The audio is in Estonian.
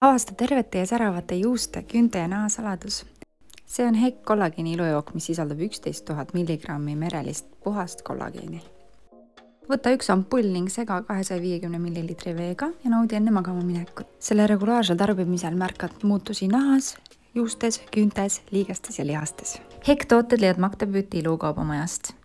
Avasta tervete ja säravate juuste, küünte ja naha saladus. See on Hekk kollageeni ilujook, mis sisaldab 11 000 milligrammi merelist puhast kollageeni. Võta üks ampull ning sega 250 millilitri veega ja naudi enne magama minekut. Selle regulaarsel tarbimisel märkad muutusi nahas, juustes, küüntes, liigestes ja lihastes. Hekk tooted leiad Magda Beauty ilukaubamajast.